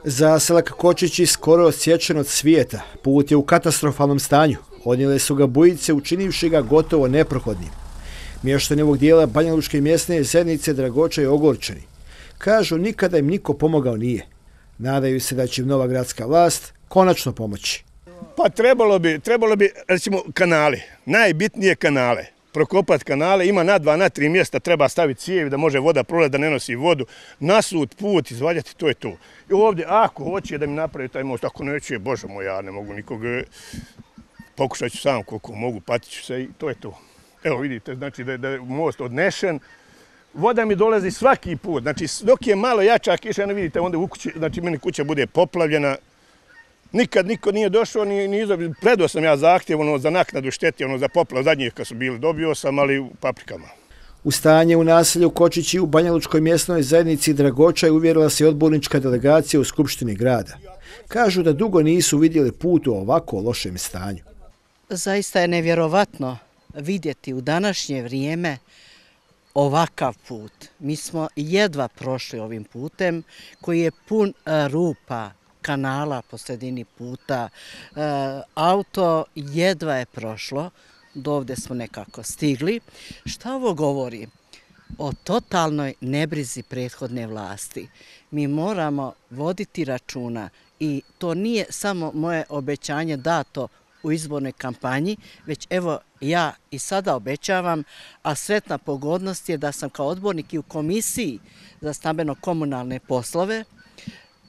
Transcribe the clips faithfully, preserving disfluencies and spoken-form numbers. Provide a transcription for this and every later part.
Zaselak Kočići skoro odsječen od svijeta. Put je u katastrofalnom stanju. Odnijele su ga bujice, učinivši ga gotovo neprohodnim. Mještani ovog dijela banjalučke mjesne zajednice Dragoča i ogorčeni. Kažu, nikada im niko pomogao nije. Nadaju se da će im nova gradska vlast konačno pomoći. Pa trebalo bi, trebalo bi, recimo, kanale. Najbitnije kanale. Prokopati kanale, ima na dva, na tri mjesta, treba staviti cijevi da može voda prolaziti, da ne nosi vodu, nasut, put, izvaljati, to je to. I ovdje, ako hoće da mi napravi taj most, ako neće, bože moj, ja ne mogu nikog, pokušat ću sam koliko mogu, patit ću se i to je to. Evo vidite, znači da je, da je most odnešen, voda mi dolazi svaki put, znači dok je malo jača kiša, ne vidite, onda u kući, znači meni kuća bude poplavljena. Nikad niko nije došao, ni, ni izobio. Predao sam ja zahtjev ono, za naknadu šteti, ono, za poplav zadnjih kad su bili, dobio sam, ali u paprikama. U stanje u naselju Kočići u banjalučkoj mjesnoj zajednici Dragoča je uvjerila se odbornička delegacija u Skupštini grada. Kažu da dugo nisu vidjeli put u ovako lošem stanju. Zaista je nevjerovatno vidjeti u današnje vrijeme ovakav put. Mi smo jedva prošli ovim putem koji je pun rupa, kanala po sredini puta. E, auto jedva je prošlo, do ovdje smo nekako stigli. Šta ovo govori? O totalnoj nebrizi prethodne vlasti. Mi moramo voditi računa i to nije samo moje obećanje dato u izbornoj kampanji, već evo ja i sada obećavam, a sretna pogodnost je da sam kao odbornik i u komisiji za stambeno-komunalne poslove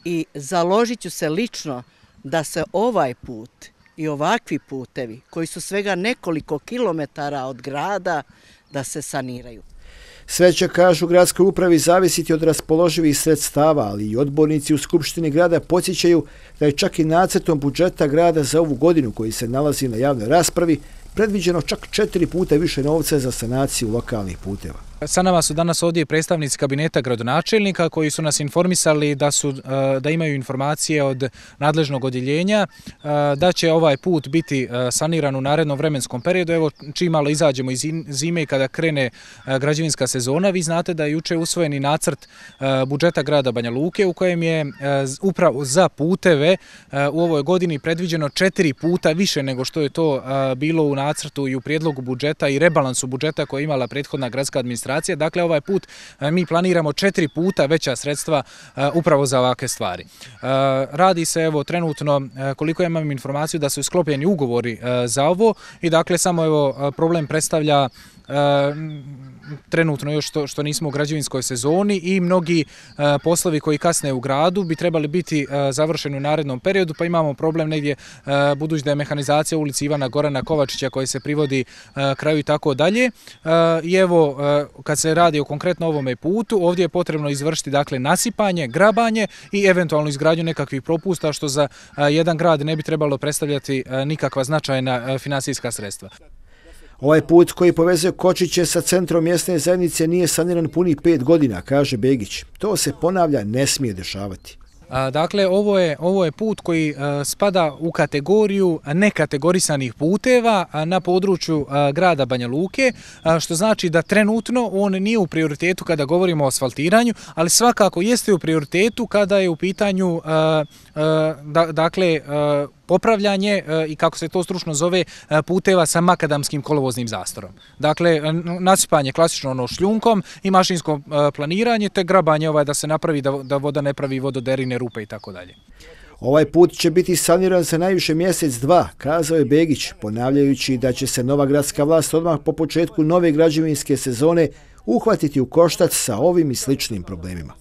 i založit ću se lično da se ovaj put i ovakvi putevi, koji su svega nekoliko kilometara od grada, da se saniraju. Sve će, kažu gradskoj upravi, zavisiti od raspoloživih sredstava, ali i odbornici u Skupštini grada podsjećaju da je čak i nacrtom budžeta grada za ovu godinu, koji se nalazi na javnoj raspravi, predviđeno čak četiri puta više novca za sanaciju lokalnih puteva. Sa nama su danas ovdje predstavnici kabineta gradonačelnika koji su nas informisali da, su, da imaju informacije od nadležnog odjeljenja da će ovaj put biti saniran u narednom vremenskom periodu. Evo, čim malo izađemo iz zime i kada krene građevinska sezona, vi znate da je juče usvojeni nacrt budžeta grada Banja Luke u kojem je upravo za puteve u ovoj godini predviđeno četiri puta više nego što je to bilo u nacrtu i u prijedlogu budžeta i rebalansu budžeta koje je imala prethodna gradska administracija. Dakle, ovaj put mi planiramo četiri puta veća sredstva upravo za ovakve stvari. Radi se evo trenutno, koliko ja imam informaciju, da su sklopljeni ugovori za ovo i dakle samo evo problem predstavlja trenutno još što, što nismo u građevinskoj sezoni i mnogi uh, poslovi koji kasne u gradu bi trebali biti uh, završeni u narednom periodu, pa imamo problem negdje uh, budući da je mehanizacija u ulici Ivana Gorana Kovačića koji se privodi uh, kraju i tako dalje. Uh, I evo, uh, kad se radi o konkretno ovome putu, ovdje je potrebno izvršiti dakle nasipanje, grabanje i eventualno izgradnju nekakvih propusta što za uh, jedan grad ne bi trebalo predstavljati uh, nikakva značajna uh, financijska sredstva. Ovaj put koji povezuje Kočiće sa centrom mjesne zajednice nije saniran puni pet godina, kaže Begić. To se, ponavlja, ne smije dešavati. Dakle, ovo je, ovo je put koji spada u kategoriju nekategorisanih puteva na području grada Banja Luke, što znači da trenutno on nije u prioritetu kada govorimo o asfaltiranju, ali svakako jeste u prioritetu kada je u pitanju dakle, popravljanje i kako se to stručno zove puteva sa makadamskim kolovoznim zastorom. Dakle, nasipanje klasično ono šljunkom i mašinsko planiranje, te grabanje ovaj da se napravi da, da voda ne pravi vododerine, rupe i tako dalje. Ovaj put će biti saniran za najviše mjesec dva, kazao je Begić, ponavljajući da će se nova gradska vlast odmah po početku nove građevinske sezone uhvatiti u koštac sa ovim i sličnim problemima.